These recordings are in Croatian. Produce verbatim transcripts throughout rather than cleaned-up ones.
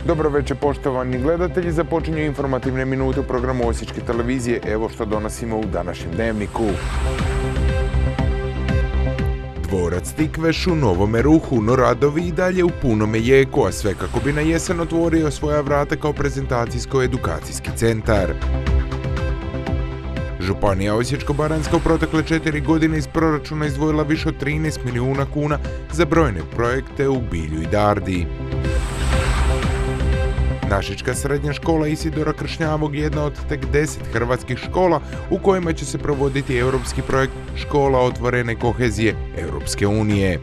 Dobro večer, poštovani gledatelji, započinju informativne minute u programu Osječke televizije. Evo što donosimo u današnjem dnevniku. Dvorac Tikveš u Novome Ruhu, no radovi i dalje u punome jeku, a sve kako bi na jesen otvorio svoja vrata kao prezentacijsko-edukacijski centar. Županija Osječko-baranjska u protekle četiri godine iz proračuna izdvojila više od trinaest milijuna kuna za brojne projekte u Bilju i Dardi. Našička srednja škola Isidora Kršnjavog je jedna od tek deset hrvatskih škola u kojima će se provoditi europski projekt Škola otvorene kohezije Europske unije.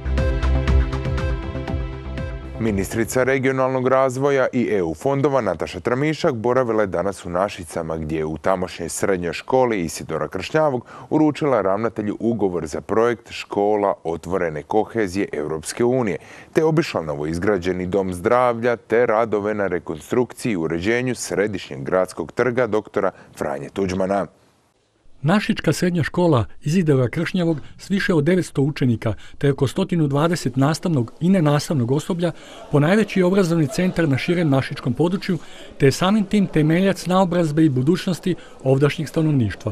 Ministrica regionalnog razvoja i E U fondova Nataša Tramišak boravila je danas u Našicama, gdje je u tamošnjoj srednjoj školi Isidora Kršnjavog uručila ravnatelju ugovor za projekt Škola otvorene kohezije Europske unije, te obišla novoizgrađeni dom zdravlja te radove na rekonstrukciji i uređenju središnjeg gradskog trga doktora Franje Tuđmana. Našička srednja škola Isidora Kršnjavog s više od devetsto učenika te oko sto dvadeset nastavnog i nenastavnog osoblja ponajveći obrazovni centar na širem našičkom području te je samim tim temeljac naobrazbe i budućnosti ovdašnjeg stanovništva.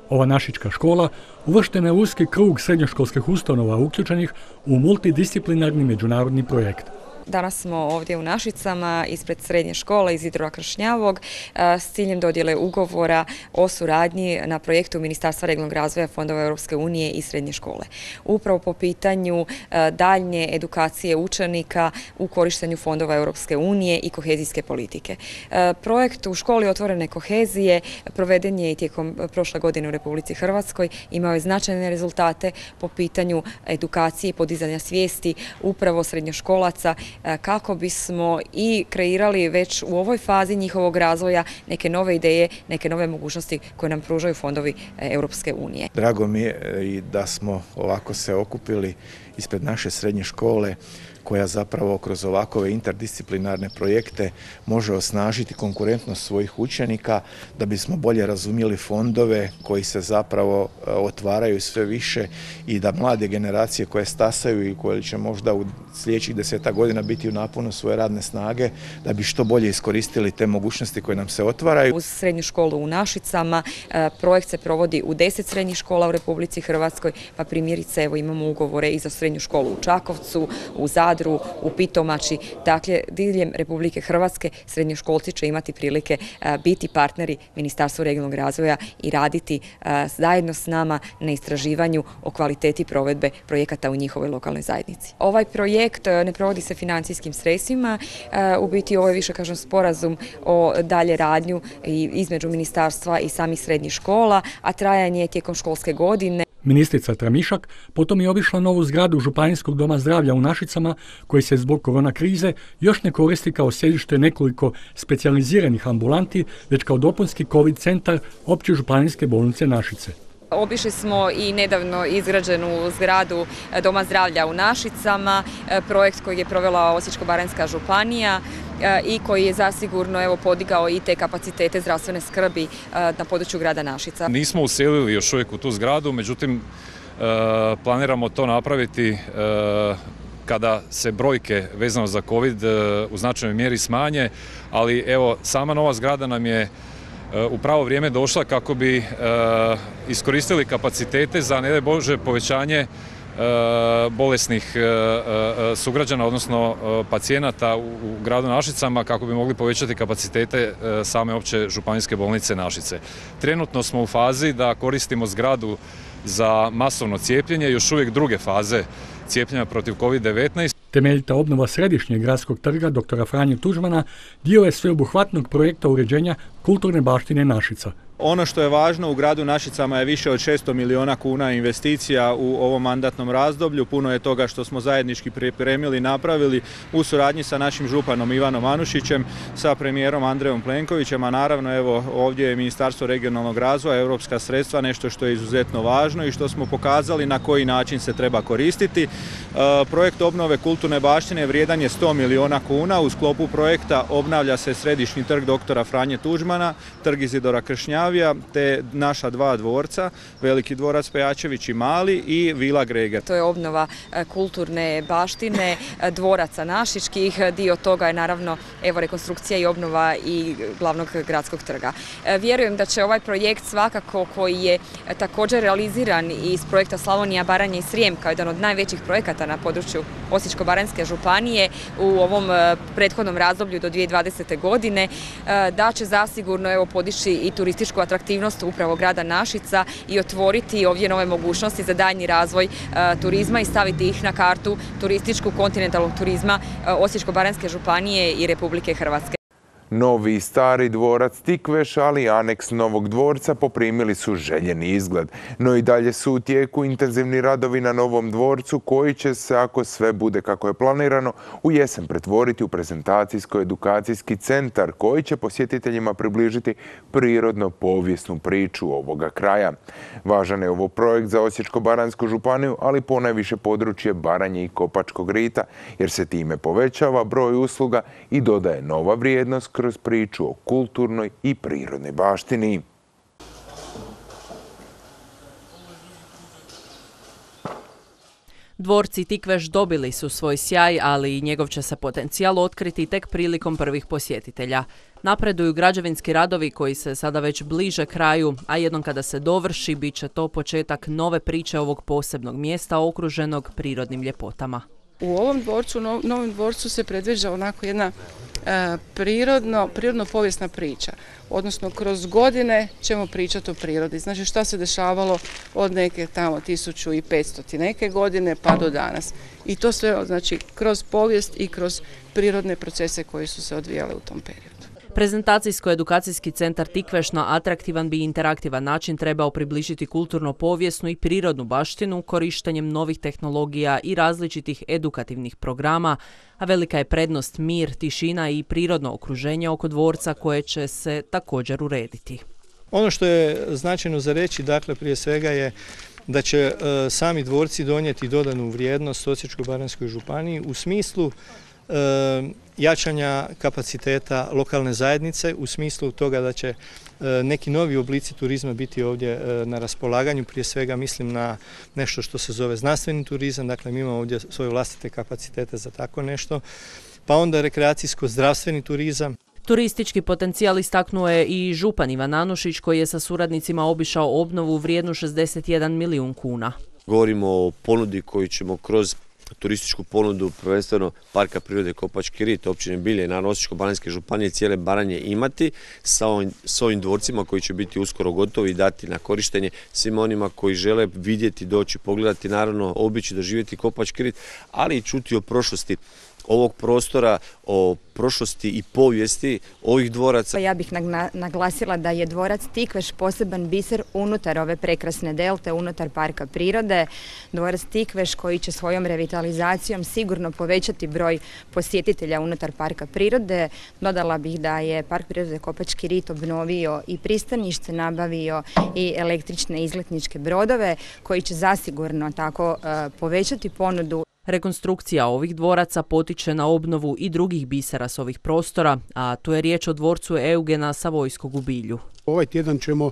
Ova našička škola uvrštena je u uski krug srednjoškolskih ustanova uključenih u multidisciplinarni međunarodni projekt. Danas smo ovdje u Našicama ispred srednje škole Isidora Kršnjavog s ciljem dodjele ugovora o suradnji na projektu Ministarstva regionalnog razvoja fondova Europske unije i srednje škole. Upravo po pitanju daljnje edukacije učenika u korištenju fondova Europske unije i kohezijske politike. Projekt u školi otvorene kohezije proveden je i tijekom prošle godine u Republici Hrvatskoj. Imao je značajne rezultate po pitanju edukacije i podizanja svijesti upravo srednjoškolaca, kako bismo i kreirali već u ovoj fazi njihovog razvoja neke nove ideje, neke nove mogućnosti koje nam pružaju fondovi Europske unije. Drago mi je i da smo ovako se okupili ispred naše srednje škole, koja zapravo kroz ovakove interdisciplinarne projekte može osnažiti konkurentnost svojih učenika, da bismo bolje razumjeli fondove koji se zapravo otvaraju sve više i da mlade generacije koje stasaju i koje će možda u sljedećih desetak godina biti u naponu svoje radne snage, da bi što bolje iskoristili te mogućnosti koje nam se otvaraju. Uz srednju školu u Našicama projekt se provodi u deset srednjih škola u Republici Hrvatskoj, pa primjerice evo imamo ugovore i za srednju školu u Čakovcu, u Zadru, u Pitomači. Dakle, diljem Republike Hrvatske srednjoškolci će imati prilike biti partneri Ministarstva regionalnog razvoja i raditi zajedno s nama na istraživanju o kvaliteti provedbe projekata u njihovoj lokalnoj zajednici. Ovaj projekt ne provodi se financijskim sredstvima, u biti ovo je više kažem sporazum o dalje radnju između ministarstva i samih srednjih škola, a trajanje je tijekom školske godine. Ministrica Tramišak potom je obišla novu zgradu Županijskog doma zdravlja u Našicama, koji se zbog korona krize još ne koristi kao sjedište nekoliko specijaliziranih ambulanti, već kao dopunski COVID centar Opće županijske bolnice Našice. Obišli smo i nedavno izgrađenu zgradu Doma zdravlja u Našicama, projekt koji je provela Osječko-baranjska županija i koji je zasigurno evo podigao i te kapacitete zdravstvene skrbi na području grada Našica. Nismo uselili još uvijek u tu zgradu, međutim planiramo to napraviti kada se brojke vezano za COVID u značajnoj mjeri smanje, ali evo sama nova zgrada nam je u pravo vrijeme došla kako bi iskoristili kapacitete za, ne daj Bože, povećanje bolesnih sugrađana, odnosno pacijenata u gradu Našicama, kako bi mogli povećati kapacitete same opće županijske bolnice Našice. Trenutno smo u fazi da koristimo zgradu za masovno cijepljenje, još uvijek druge faze cijepljenja protiv COVID devetnaest. Temeljita obnova središnjeg gradskog trga doktora Franje Tuđmana dio je sveobuhvatnog projekta uređenja kulturne baštine Našica. Ono što je važno u gradu Našicama je više od šesto milijuna kuna investicija u ovom mandatnom razdoblju. Puno je toga što smo zajednički pripremili i napravili u suradnji sa našim županom Ivanom Anušićem, sa premijerom Andrejom Plenkovićem, a naravno evo ovdje je Ministarstvo regionalnog razvoja, europska sredstva, nešto što je izuzetno važno i što smo pokazali na koji način se treba koristiti. Projekt obnove kulturne baštine vrijedan je sto milijuna kuna. U sklopu projekta obnavlja se središnji trg doktora Franje Tuđmana, trg Isidora Kršnjavog, Skandinavija, te naša dva dvorca, Veliki dvorac Pejačević i Mali i Vila Greger. To je obnova kulturne baštine, dvoraca našičkih, dio toga je naravno evo rekonstrukcija i obnova i glavnog gradskog trga. Vjerujem da će ovaj projekt svakako koji je također realiziran iz projekta Slavonija, Baranja i Srijem kao jedan od najvećih projekata na području Osječko-baranjske županije u ovom prethodnom razdoblju do dvije tisuće dvadesete. godine, da će zasigurno evo podići i turističku atraktivnost upravo grada Našica i otvoriti ovdje nove mogućnosti za daljnji razvoj turizma i staviti ih na kartu turističku kontinentalnog turizma Osječko-baranjske županije i Republike Hrvatske. Novi i stari dvorac Tikveš, ali i aneks novog dvorca poprimili su željeni izgled. No i dalje su u tijeku intenzivni radovi na novom dvorcu koji će se, ako sve bude kako je planirano, u jesen pretvoriti u prezentacijsko-edukacijski centar koji će posjetiteljima približiti prirodno-povijesnu priču ovoga kraja. Važan je ovo projekt za Osječko-baransku županiju, ali ponajviše područje Baranje i Kopačkog rita, jer se time povećava broj usluga i dodaje nova vrijednost kroz priču o kulturnoj i prirodnoj baštini. Dvorci Tikveš dobili su svoj sjaj, ali i njegov će se potencijal otkriti tek prilikom prvih posjetitelja. Napreduju građevinski radovi koji se sada već bliže kraju, a jednom kada se dovrši, bit će to početak nove priče ovog posebnog mjesta okruženog prirodnim ljepotama. U ovom dvorcu, novom dvorcu se predviđa onako jedna e, prirodno, prirodno povijesna priča. Odnosno, kroz godine ćemo pričati o prirodi. Znači, šta se dešavalo od neke tamo tisuću petsto neke godine pa do danas. I to sve, znači, kroz povijest i kroz prirodne procese koji su se odvijale u tom periodu. Prezentacijsko-edukacijski centar Tikveš na atraktivan bi interaktivan način trebao približiti kulturno-povijesnu i prirodnu baštinu korištenjem novih tehnologija i različitih edukativnih programa, a velika je prednost mir, tišina i prirodno okruženje oko dvorca koje će se također urediti. Ono što je značajno za reći, dakle, prije svega je da će e, sami dvorci donijeti dodanu vrijednost Osječko-baranjskoj županiji u smislu e, jačanja kapaciteta lokalne zajednice, u smislu toga da će neki novi oblici turizma biti ovdje na raspolaganju. Prije svega mislim na nešto što se zove znanstveni turizam, dakle mi imamo ovdje svoje vlastite kapacitete za tako nešto, pa onda rekreacijsko-zdravstveni turizam. Turistički potencijal istaknuo je i župan Ivan Anušić koji je sa suradnicima obišao obnovu vrijednu šezdeset jedan milijun kuna. Govorimo o ponudi koju ćemo kroz turističku ponudu prvenstveno Parka prirode Kopački rit, općine Bilje i naravno Osječko-baranjske županije cijele Baranje imati sa ovim, s ovim dvorcima koji će biti uskoro gotovi i dati na korištenje svima onima koji žele vidjeti, doći, pogledati, naravno obići, doživjeti Kopački rit, ali i čuti o prošlosti ovog prostora, o prošlosti i povijesti ovih dvoraca. Ja bih naglasila da je dvorac Tikveš poseban biser unutar ove prekrasne delte, unutar parka prirode. Dvorac Tikveš koji će svojom revitalizacijom sigurno povećati broj posjetitelja unutar parka prirode. Dodala bih da je Park prirode Kopački rit obnovio i pristanište, nabavio i električne izletničke brodove koji će zasigurno tako povećati ponudu. Rekonstrukcija ovih dvoraca potiče na obnovu i drugih bisera s ovih prostora, a tu je riječ o dvorcu Eugena Savojskog u Bilju. Ovaj tjedan ćemo,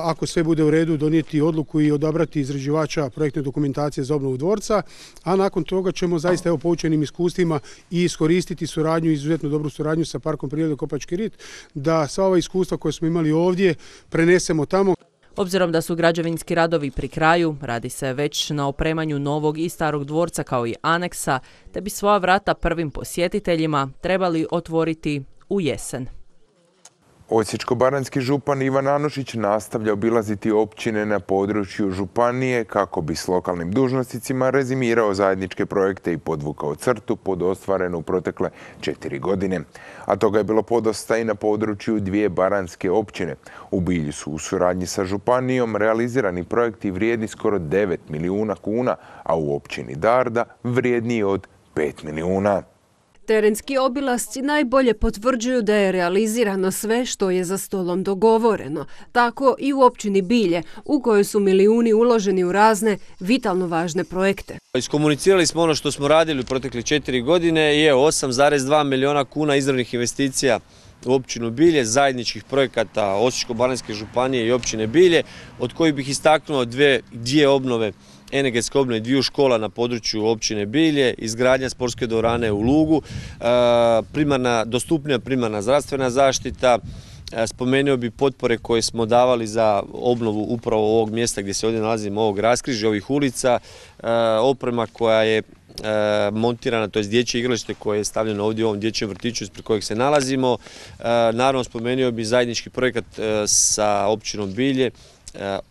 ako sve bude u redu, donijeti odluku i odabrati izrađivača projektne dokumentacije za obnovu dvorca, a nakon toga ćemo zaista evo poučenim iskustvima i iskoristiti suradnju, izuzetno dobru suradnju sa Parkom prirode Kopački rit, da sva ova iskustva koje smo imali ovdje prenesemo tamo. Obzirom da su građevinski radovi pri kraju, radi se već na opremanju novog i starog dvorca kao i aneksa, te bi svoja vrata prvim posjetiteljima trebali otvoriti u jesen. Osječko-baranjski župan Ivan Anušić nastavlja obilaziti općine na području županije kako bi s lokalnim dužnosnicima rezimirao zajedničke projekte i podvukao crtu pod ostvarenu u protekle četiri godine. A toga je bilo podosta i na području dvije baranjske općine. U Bilju su u suradnji sa županijom realizirani projekti vrijedni skoro devet milijuna kuna, a u općini Darda vrijedniji od pet milijuna. Terenski obilasci najbolje potvrđuju da je realizirano sve što je za stolom dogovoreno. Tako i u općini Bilje, u kojoj su milijuni uloženi u razne vitalno važne projekte. Iskomunicirali smo ono što smo radili u protekle četiri godine i je osam zarez dva milijuna kuna izravnih investicija u općinu Bilje, zajedničkih projekata Osječko-baranjske županije i općine Bilje, od kojih bih istaknuo dvije, dvije obnove, energetske obnove dviju škola na području općine Bilje, izgradnja sportske dvorane u Lugu, primarna, dostupnija primarna zdravstvena zaštita. Spomenuo bi potpore koje smo davali za obnovu upravo ovog mjesta gdje se ovdje nalazimo, ovog raskrižja, ovih ulica, oprema koja je montirana, to je dječje igralište koje je stavljeno ovdje u ovom dječjem vrtiću ispred kojeg se nalazimo. Naravno, spomenuo bi zajednički projekat sa općinom Bilje,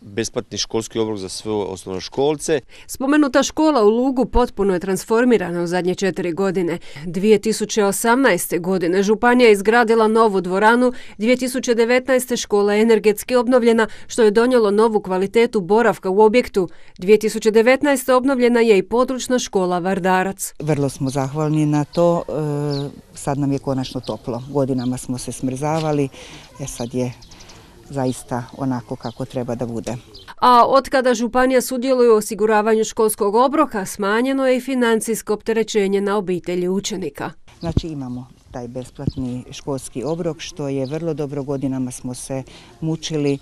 besplatni školski obrok za sve osnovnoškolce. Spomenuta škola u Lugu potpuno je transformirana u zadnje četiri godine. dvije tisuće osamnaeste. godine županija je izgradila novu dvoranu, dvije tisuće devetnaeste. škola je energetski obnovljena, što je donijelo novu kvalitetu boravka u objektu. dvije tisuće devetnaeste. obnovljena je i područna škola Vardarac. Vrlo smo zahvalni na to, sad nam je konačno toplo. Godinama smo se smrzavali, jer sad je zaista onako kako treba da bude. A otkada županija sudjeluje u osiguravanju školskog obroka, smanjeno je i financijsko opterećenje na obitelji učenika. Znači imamo taj besplatni školski obrok, što je vrlo dobro. Godinama smo se mučili, e,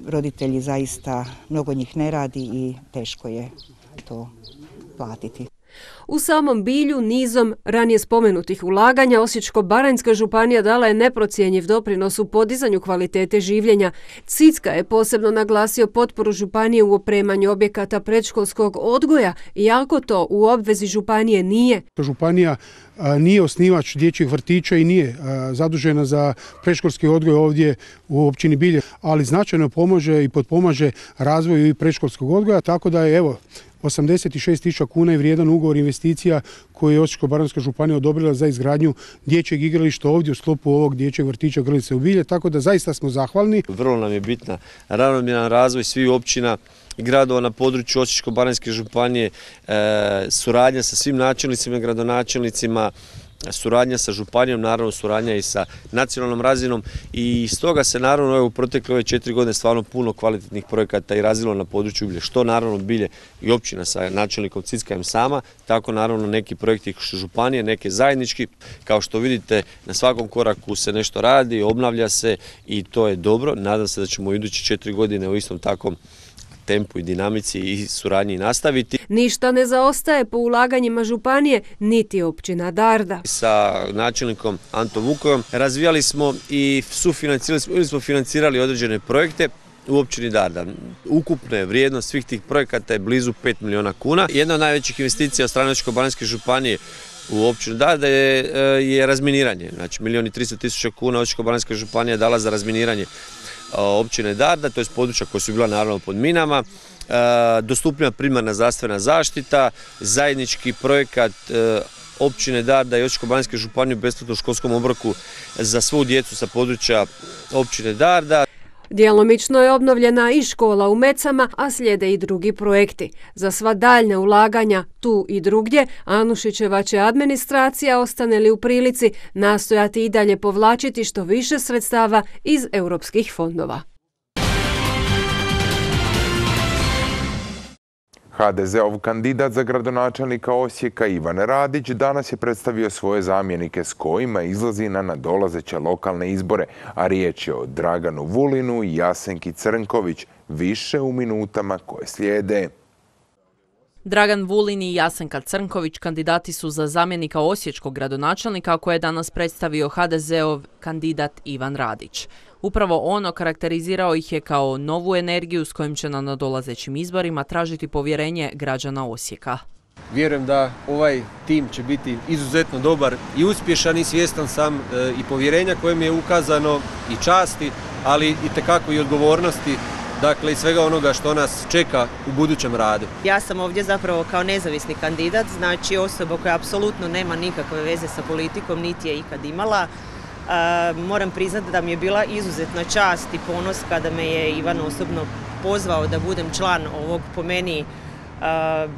roditelji zaista, mnogo njih ne radi i teško je to platiti. U samom Bilju nizom ranije spomenutih ulaganja Osječko-baranjska županija dala je neprocjenjiv doprinos u podizanju kvalitete življenja. Cicka je posebno naglasio potporu županije u opremanju objekata predškolskog odgoja, iako to u obvezi županije nije. Županija nije osnivač dječjih vrtića i nije zadužena za predškolski odgoj ovdje u općini Bilje, ali značajno pomože i potpomaže razvoju i predškolskog odgoja, tako da je evo osamdeset šest tisuća kuna je vrijedan ugovor investicija koji je Osječko-baranjska županija odobrila za izgradnju dječjeg igrališta ovdje u sklopu ovog dječjeg vrtića Grlice u Bilje, tako da zaista smo zahvalni. Vrlo nam je bitna ravnomjeran razvoj svih općina i gradova na području Osječko-baranjske županije, e, suradnja sa svim načelnicima i gradonačelnicima, suradnja sa županijom, naravno suradnja i sa nacionalnom razinom i stoga se naravno u protekle ove četiri godine stvarno puno kvalitetnih projekata i razvilo na području Bilje, što naravno Bilje i općina sa načelnikom Cickajem sama, tako naravno neki projekti županije, neke zajednički. Kao što vidite, na svakom koraku se nešto radi, obnavlja se i to je dobro. Nadam se da ćemo u iduće četiri godine u istom takvom tempu i dinamici i suradnji nastaviti. Ništa ne zaostaje po ulaganjima županije, niti općina Darda. Sa načelnikom Antom Vukovom razvijali smo i sufinancirali smo, ili smo financirali određene projekte u općini Darda. Ukupna vrijednost svih tih projekata je blizu pet milijuna kuna. Jedna od najvećih investicija od strane Osječko-baranjske županije u općinu Darda je, je razminiranje. Znači milijun i tristo tisuća kuna Osječko-baranjska županija je dala za razminiranje općine Darda, to je područja koja su bila naravno pod minama, dostupnija primarna zdravstvena zaštita, zajednički projekat općine Darda i Osječko-baranjske županije u besplatnom školskom obroku za svu djecu sa područja općine Darda. Djelomično je obnovljena i škola u Mecama, a slijede i drugi projekti. Za sva daljnja ulaganja tu i drugdje, Anušićeva će administracija, ostane li u prilici, nastojati i dalje povlačiti što više sredstava iz europskih fondova. ha de zeov kandidat za gradonačelnika Osijeka Ivan Radić danas je predstavio svoje zamjenike s kojima izlazi na nadolazeće lokalne izbore, a riječ je o Draganu Vulinu i Jasenki Crnković, više u minutama koje slijede. Dragan Vulin i Jasenka Crnković kandidati su za zamjenika osječkog gradonačelnika koje je danas predstavio ha de zeov kandidat Ivan Radić. Upravo ono karakterizirao ih je kao novu energiju s kojim će na nadolazećim izborima tražiti povjerenje građana Osijeka. Vjerujem da ovaj tim će biti izuzetno dobar i uspješan i svjestan sam e, i povjerenja koje mi je ukazano i časti, ali itekako i odgovornosti, dakle i svega onoga što nas čeka u budućem radu. Ja sam ovdje zapravo kao nezavisni kandidat, znači osoba koja apsolutno nema nikakve veze sa politikom, niti je ikad imala. Uh, moram priznati da mi je bila izuzetna čast i ponos kada me je Ivan osobno pozvao da budem član ovog, po meni, uh,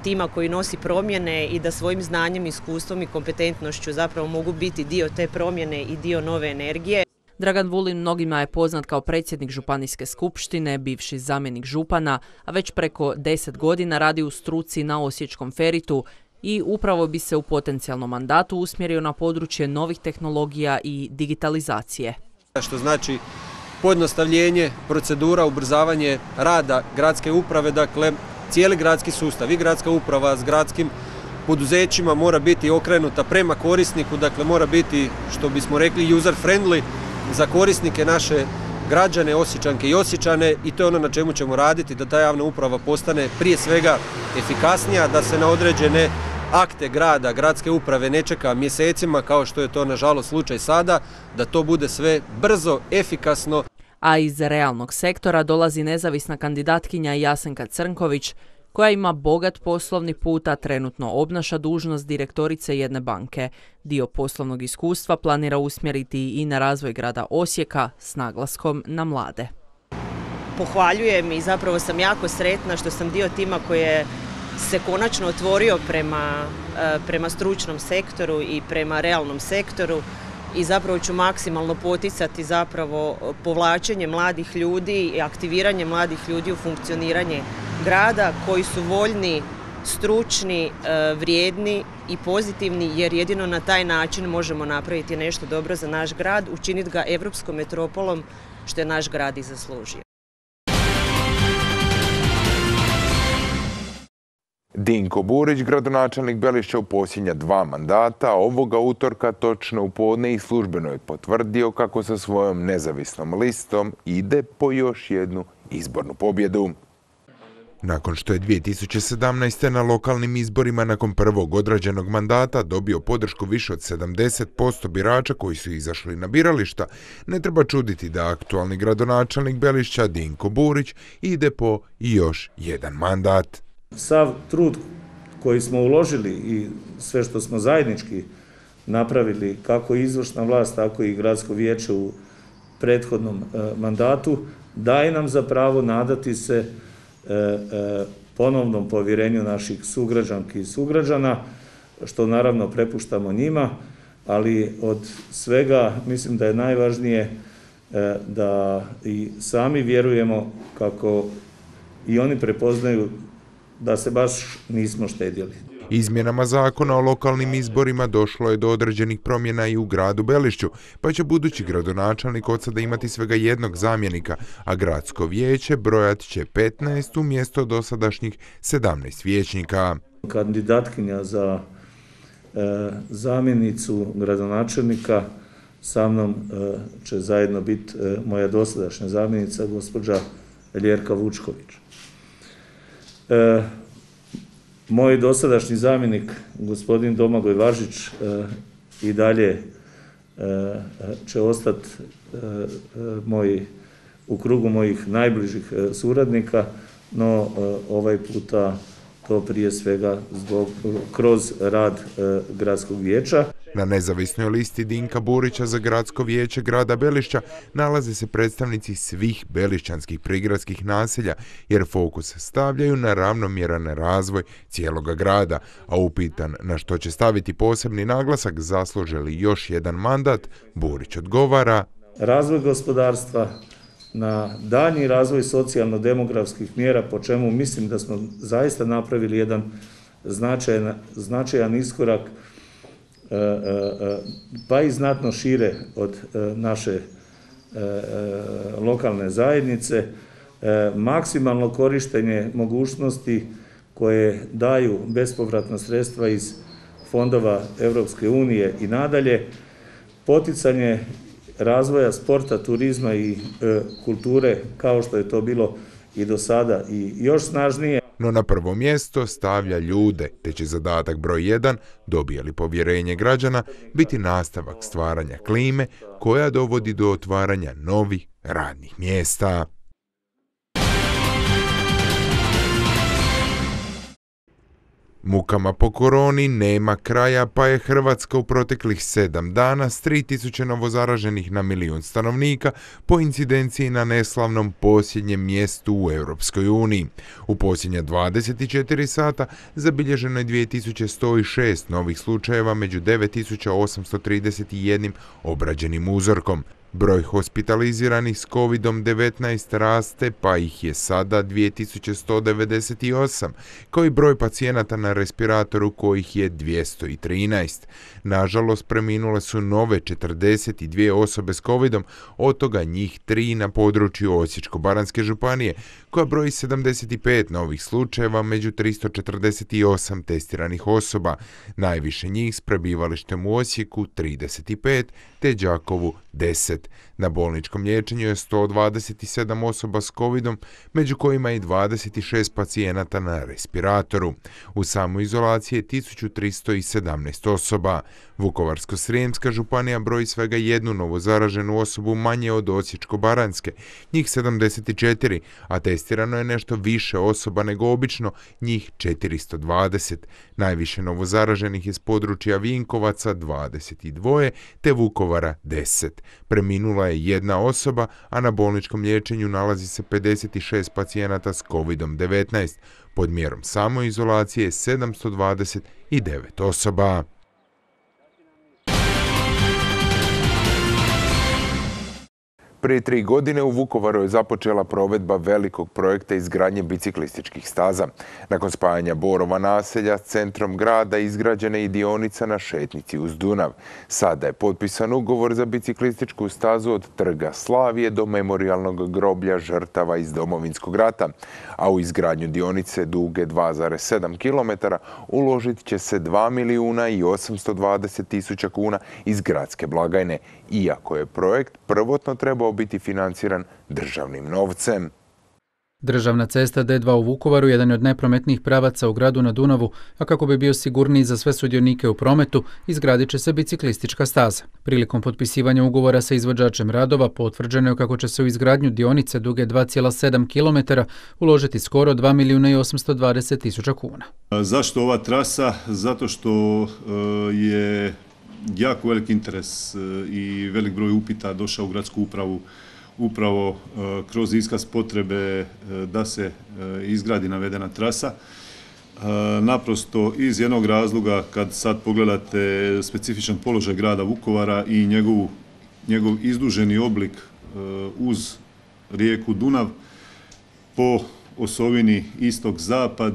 tima koji nosi promjene i da svojim znanjem, iskustvom i kompetentnošću zapravo mogu biti dio te promjene i dio nove energije. Dragan Vulin mnogima je poznat kao predsjednik županijske skupštine, bivši zamjenik župana, a već preko deset godina radi u struci na osječkom Feritu i upravo bi se u potencijalnom mandatu usmjerio na područje novih tehnologija i digitalizacije. Što znači pojednostavljenje procedura, ubrzavanje rada gradske uprave, dakle cijeli gradski sustav i gradska uprava s gradskim poduzećima mora biti okrenuta prema korisniku, dakle mora biti, što bismo rekli, user friendly za korisnike, naše građane, Osječanke i Osječane, i to je ono na čemu ćemo raditi, da ta javna uprava postane prije svega efikasnija, da se na određene akte grada, gradske uprave ne čeka mjesecima kao što je to nažalost slučaj sada, da to bude sve brzo, efikasno. A iz realnog sektora dolazi nezavisna kandidatkinja Jasenka Crnković, koja ima bogat poslovni put, a trenutno obnaša dužnost direktorice jedne banke. Dio poslovnog iskustva planira usmjeriti i na razvoj grada Osijeka s naglaskom na mlade. Pohvaljujem i zapravo sam jako sretna što sam dio tima koji je se konačno otvorio prema, prema stručnom sektoru i prema realnom sektoru i zapravo ću maksimalno poticati zapravo povlačenje mladih ljudi i aktiviranje mladih ljudi u funkcioniranje grada koji su voljni, stručni, vrijedni i pozitivni, jer jedino na taj način možemo napraviti nešto dobro za naš grad, učiniti ga europskom metropolom, što je naš grad i zaslužio. Dinko Burić, gradonačelnik Belišća u posljednja dva mandata, ovoga utorka točno u podne i službeno je potvrdio kako sa svojom nezavisnom listom ide po još jednu izbornu pobjedu. Nakon što je dvije tisuće sedamnaeste. na lokalnim izborima nakon prvog odrađenog mandata dobio podršku više od sedamdeset posto birača koji su izašli na birališta, ne treba čuditi da aktualni gradonačelnik Belišća Dinko Burić ide po još jedan mandat. Sav trud koji smo uložili i sve što smo zajednički napravili, kako izvršna vlast, tako i gradsko vijeće u prethodnom mandatu, daje nam za pravo nadati se ponovnom povjerenju naših sugrađanki i sugrađana, što naravno prepuštamo njima, ali od svega mislim da je najvažnije da i sami vjerujemo kako i oni prepoznaju da se baš nismo štedjeli. Izmjenama zakona o lokalnim izborima došlo je do određenih promjena i u gradu Belišću, pa će budući gradonačelnik od sada imati svega jednog zamjenika, a gradsko vijeće brojat će petnaest umjesto dosadašnjih sedamnaest vijećnika. Kandidatkinja za e, zamjenicu gradonačelnika sa mnom e, će zajedno biti e, moja dosadašnja zamjenica, gospođa Ljerka Vučković. E, Moj dosadašnji zamjenik, gospodin Domagoj Važić, e, i dalje e, će ostati e, moj, u krugu mojih najbližih e, suradnika, no e, ovaj puta to prije svega zbog, kroz rad e, gradskog vijeća. Na nezavisnoj listi Dinka Burića za gradsko vijeće grada Belišća nalaze se predstavnici svih belišćanskih prigradskih naselja, jer fokus stavljaju na ravnomjeran razvoj cijeloga grada, a upitan na što će staviti posebni naglasak zasluže li još jedan mandat, Burić odgovara: razvoj gospodarstva, na daljnji razvoj socijalno-demografskih mjera, po čemu mislim da smo zaista napravili jedan značajan, značajan iskorak, pa i znatno šire od naše lokalne zajednice, maksimalno korištenje mogućnosti koje daju bespovratna sredstva iz fondova Europske unije i nadalje, poticanje razvoja sporta, turizma i e, kulture kao što je to bilo i do sada i još snažnije. No na prvo mjesto stavlja ljude, te će zadatak broj jedan, dobije li povjerenje građana, biti nastavak stvaranja klime koja dovodi do otvaranja novih radnih mjesta. Mukama po koroni nema kraja, pa je Hrvatska u proteklih sedam dana s tri tisuće novozaraženih na milijun stanovnika po incidenciji na neslavnom posljednjem mjestu u Europskoj uniji. U posljednja dvadeset četiri sata zabilježeno je dvije tisuće sto šest novih slučajeva među devet tisuća osamsto trideset jedan obrađenim uzorkom. Broj hospitaliziranih s kovid devetnaest raste, pa ih je sada dvije tisuće sto devedeset osam, kao i broj pacijenata na respiratoru kojih je dvjesto trinaest. Nažalost, preminule su nove četrdeset dvije osobe s kovidom, od toga njih tri na području Osječko-baranjske županije, koja broji sedamdeset pet novih slučajeva među tristo četrdeset osam testiranih osoba. Najviše njih s prebivalištem u Osijeku trideset pet, te Đakovu deset. Na bolničkom liječenju je sto dvadeset sedam osoba s kovidom, među kojima je dvadeset šest pacijenata na respiratoru. U samoizolaciji je tisuću tristo sedamnaest osoba. Vukovarsko-srijemska županija broji svega jednu novozaraženu osobu manje od Osječko-baranjske, njih sedamdeset četiri, a testirano je nešto više osoba nego obično, njih četiristo dvadeset. Najviše novozaraženih je s područja Vinkovaca dvadeset dva, te Vukovara deset. Preminula je jedna osoba, a na bolničkom liječenju nalazi se pedeset šest pacijenata s kovid devetnaest. Pod mjerom samoizolacije je sedamsto dvadeset devet osoba. Prije tri godine u Vukovaru je započela provedba velikog projekta izgradnje biciklističkih staza. Nakon spajanja Borova naselja s centrom grada izgrađena je i dionica na šetnici uz Dunav. Sada je potpisan ugovor za biciklističku stazu od Trga Slavije do memorijalnog groblja žrtava iz Domovinskog rata, a u izgradnju dionice duge dva zarez sedam kilometara uložit će se dva milijuna i osamsto dvadeset tisuća kuna iz gradske blagajne, iako je projekt prvotno trebao biti financiran državnim novcem. Državna cesta D dva u Vukovaru jedan je od najprometnijih pravaca u gradu na Dunavu, a kako bi bio sigurniji za sve sudionike u prometu, izgradit će se biciklistička staza. Prilikom potpisivanja ugovora sa izvođačem radova potvrđeno je kako će se u izgradnju dionice duge dva zarez sedam kilometara uložiti skoro dva milijuna i osamsto dvadeset tisuća kuna. Zašto ova trasa? Zato što je jako velik interes i velik broj upita došao u gradsku upravu upravo kroz iskaz potrebe da se izgradi navedena trasa. Naprosto iz jednog razloga, kad sad pogledate specifičan položaj grada Vukovara i njegovu, njegov izduženi oblik uz rijeku Dunav po osovini istok-zapad,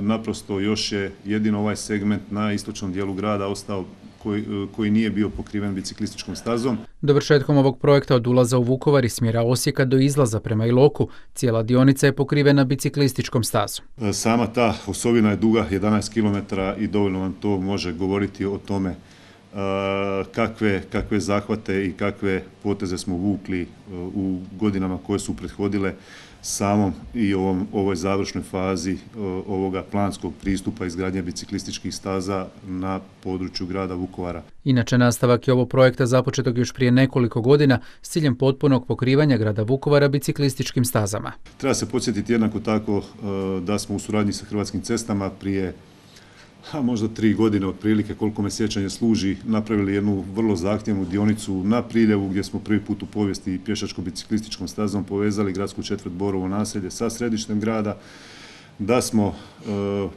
naprosto još je jedino ovaj segment na istočnom dijelu grada ostao Koji, koji nije bio pokriven biciklističkom stazom. Dovršetkom ovog projekta od ulaza u Vukovar iz smjera Osijeka do izlaza prema Iloku, cijela dionica je pokrivena biciklističkom stazom. Sama ta osovina je duga jedanaest kilometara i dovoljno vam to može govoriti o tome kakve, kakve zahvate i kakve poteze smo vukli u godinama koje su prethodile samom i ovom, ovoj završnoj fazi ovoga planskog pristupa izgradnje biciklističkih staza na području grada Vukovara. Inače, nastavak je ovog projekta započetog još prije nekoliko godina s ciljem potpunog pokrivanja grada Vukovara biciklističkim stazama. Treba se podsjetiti jednako tako da smo u suradnji sa Hrvatskim cestama prije a možda tri godine otprilike, koliko me sjećanje služi, napravili jednu vrlo zahtjevnu dionicu na Priljevu gdje smo prvi put u povijesti pješačko-biciklističkom stazom povezali gradsku četvrt Borovo naselje sa središtem grada, da smo e,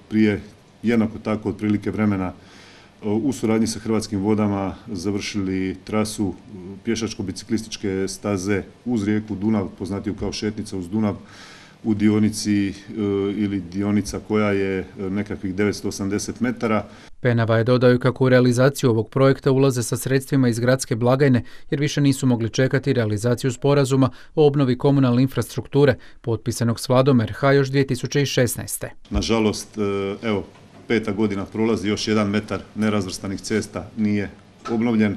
prije jednako tako otprilike vremena e, u suradnji sa Hrvatskim vodama završili trasu pješačko-biciklističke staze uz rijeku Dunav, poznatiju kao šetnica uz Dunav, u dionici e, ili dionica koja je nekakvih devetsto osamdeset metara. Penava je dodao kako u realizaciju ovog projekta ulaze sa sredstvima iz gradske blagajne jer više nisu mogli čekati realizaciju sporazuma o obnovi komunalne infrastrukture potpisanog s vladom R H još dvije tisuće šesnaeste. Nažalost, evo, peta godina prolazi, još jedan metar nerazvrstanih cesta nije obnovljen.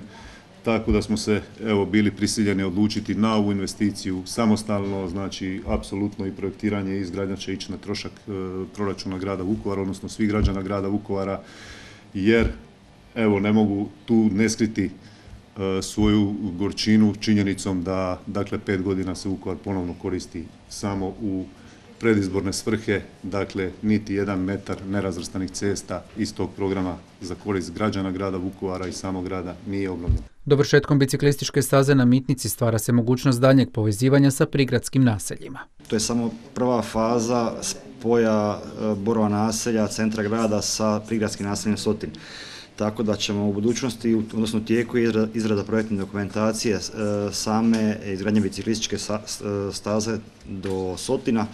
Tako da smo se evo bili prisiljeni odlučiti na ovu investiciju samostalno, znači apsolutno i projektiranje i izgradnja će ići na trošak e, proračuna grada Vukovara, odnosno svih građana grada Vukovara, jer evo ne mogu tu ne skriti e, svoju gorčinu činjenicom da dakle pet godina se Vukovar ponovno koristi samo u predizborne svrhe, dakle niti jedan metar nerazvrstanih cesta iz tog programa za korist građana grada Vukovara i samog grada nije obnovljen. Dovršetkom biciklističke staze na Mitnici stvara se mogućnost daljnjeg povezivanja sa prigradskim naseljima. To je samo prva faza spoja Borova naselja, centra grada sa prigradskim naseljem Sotin. tako da ćemo u budućnosti, odnosno u tijeku izrada projektne dokumentacije same izgradnje biciklističke staze do Sotina,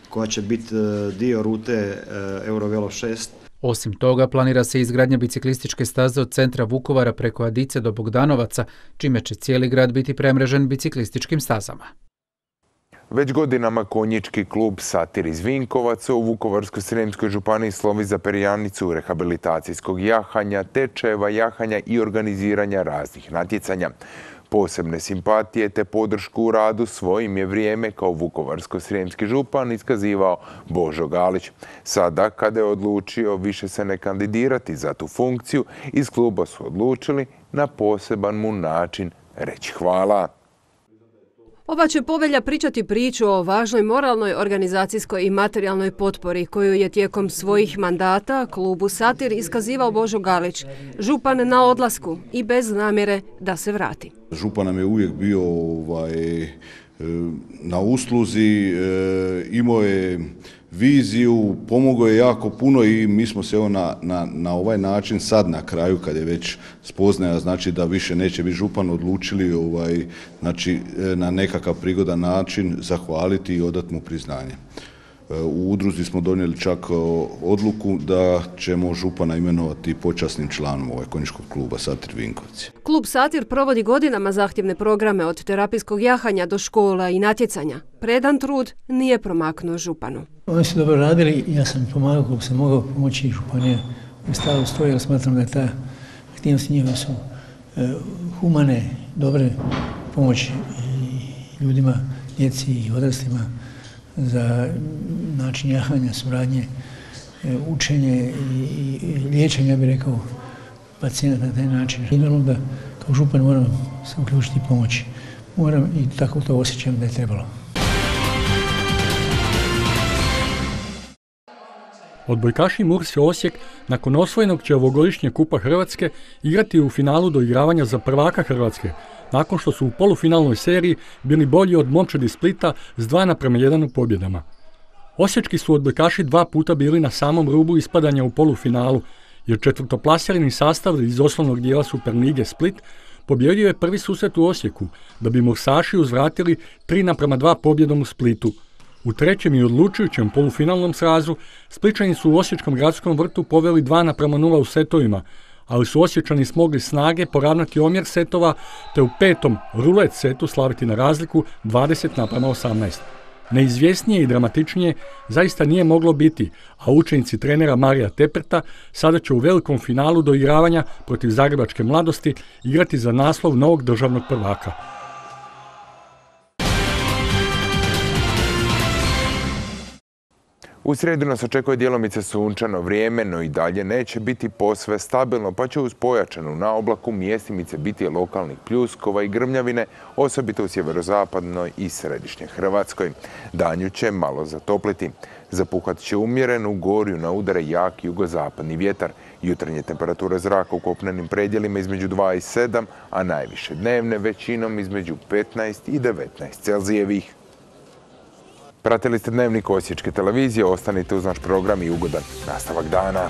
koja će biti dio rute Eurovelo šest. Osim toga, planira se izgradnja biciklističke staze od centra Vukovara preko Adice do Bogdanovaca, čime će cijeli grad biti premrežen biciklističkim stazama. Već godinama konjički klub Satir iz Vinkovaca u Vukovarsko-srijemskoj županiji slovi za perjanicu rehabilitacijskog jahanja, tečajeva jahanja i organiziranja raznih natjecanja. Posebne simpatije te podršku u radu svojim je vrijeme kao vukovarsko-srijemski župan iskazivao Božo Galić. Sada, kada je odlučio više se ne kandidirati za tu funkciju, iz kluba su odlučili na poseban mu način reći hvala. Ova će povelja pričati priču o važnoj moralnoj, organizacijskoj i materijalnoj potpori koju je tijekom svojih mandata klubu Satir iskazivao Božo Galić, župan na odlasku i bez namjere da se vrati. Župan nam je uvijek bio ovaj, na usluzi, imao je viziju, pomogao je jako puno i mi smo se na, na, na ovaj način sad na kraju, kad je već spoznaja znači da više neće biti župan, odlučili ovaj, znači, na nekakav prigodan način zahvaliti i odati mu priznanje. U udruzi smo donijeli čak odluku da ćemo župana imenovati počasnim članom ovaj konjičkog kluba Satir Vinkovci. Klub Satir provodi godinama zahtjevne programe od terapijskog jahanja do škola i natjecanja. Predan trud nije promaknuo županu. Oni su dobro radili, ja sam pomagao kako sam mogao pomoći županije u stavu stoji, jer smatram da je ta aktivnosti njihove su e, humane, dobre pomoći ljudima, djeci i odraslima za način jahanja, suradnje, učenje i liječenja, bih rekao, pacijenta na taj način. I naravno da kao župan moram se uključiti i pomoći. Moram i tako to osjećam da je trebalo. Odbojkaši Mursi Osijek nakon osvojenog će ovogodišnjeg Kupa Hrvatske igrati u finalu doigravanja za prvaka Hrvatske, nakon što su u polufinalnoj seriji bili bolji od momčadi Splita s dva naprema jedan u pobjedama. Osječki su odbojkaši dva puta bili na samom rubu ispadanja u polufinalu, jer četvrtoplasirani sastav iz osnovnog dijela Superlige Split pobjedio je prvi susret u Osijeku, da bi Mursaši uzvratili tri naprema dva pobjedom u Splitu. U trećem i odlučujućem polufinalnom srazu Spličani su u Osječkom gradskom vrtu poveli dva naprema nula u setovima, ali su Osječani smogli snage poravnati omjer setova te u petom rulet setu slaviti na razliku dvadeset naprema osamnaest. Neizvjesnije i dramatičnije zaista nije moglo biti, a učenici trenera Marija Teperta sada će u velikom finalu doigravanja protiv Zagrebačke Mladosti igrati za naslov novog državnog prvaka. U srijedu nas očekuje djelomice sunčano vrijeme, no i dalje neće biti posve stabilno, pa će uz pojačanu naoblaku mjestimice biti lokalnih pljuskova i grmljavine, osobito u sjeverozapadnoj i središnjoj Hrvatskoj. Danju će malo zatopliti. Zapuhat će umjeren, u gorju na udare jak jugozapadni vjetar. Jutarnje temperature zraka u kopnenim predjelima između dva i sedam, a najviše dnevne većinom između petnaest i devetnaest Celzijevih. Pratili ste Dnevnik Osječke televizije, ostanite uz naš program i ugodan nastavak dana.